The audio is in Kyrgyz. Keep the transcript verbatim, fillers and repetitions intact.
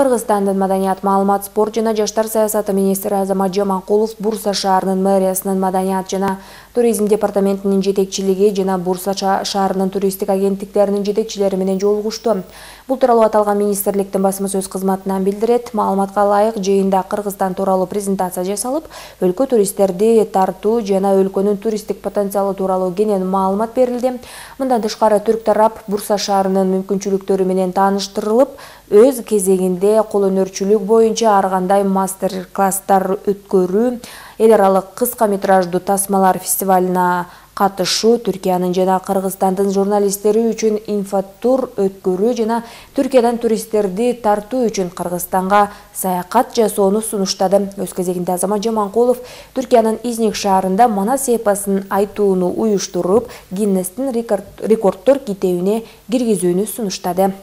Кыргызстандын маданият, маалымат, спорт жана жаштар саясаты министри Азамат Жаманкулов Бурса шаарынын мэриясынын маданият жана туризм департаментинин жетекчилиги жана Бурса шаарынын туристтик агенттиктеринин жетекчилери менен жолугушту. Бул тууралуу аталган министрликтин басма сөз кызматынан билдирет. Маалыматка ылайык, жыйында Кыргызстан тууралуу презентация жасалып, өлкө туристтерди тартуу жана өлкөнүн туристтик потенциалы тууралуу кенен маалымат берилди. Мындан тышкары түрк тарап Бурса шаарынын мүмкүнчүлүктөрү менен тааныштырылып, өз кезегинде кол өнөрчүлүк боюнча ар кандай мастер-класстар өткөрүү, эл аралык кыска метраждуу тасмалар фестивалына катышуу, Түркиянын жана Кыргызстандын журналисттери үчүн инфотур өткөрүү жана Түркиядан туристтерди тартуу үчүн Кыргызстанга саякат жасоону сунуштады. Өз кезегинде Азамат Жаманкулов Түркиянын Изник шаарында Манас эпосун айтууну уюштуруп, Гиннестин рекордтор китебине киргизүүнү сунуштады.